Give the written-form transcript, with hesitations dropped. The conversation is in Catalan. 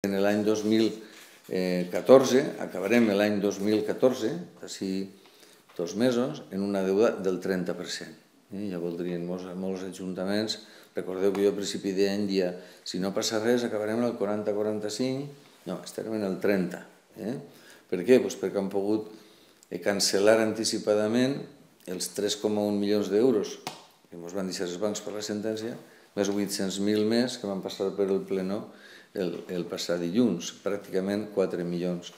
En l'any 2014, acabarem l'any 2014, d'ací 2 mesos, en una deuda del 30%. Ja voldrien molts ajuntaments. Recordeu que jo al principi d'any dia, si no passa res, acabarem el 40-45, no, estarem en el 30. Per què? Perquè han pogut cancel·lar anticipadament els 3,1 milions d'euros que ens van deixar els bancs per la sentència, més 800.000 més que van passar per el plenó el passat dilluns, pràcticament 4 milions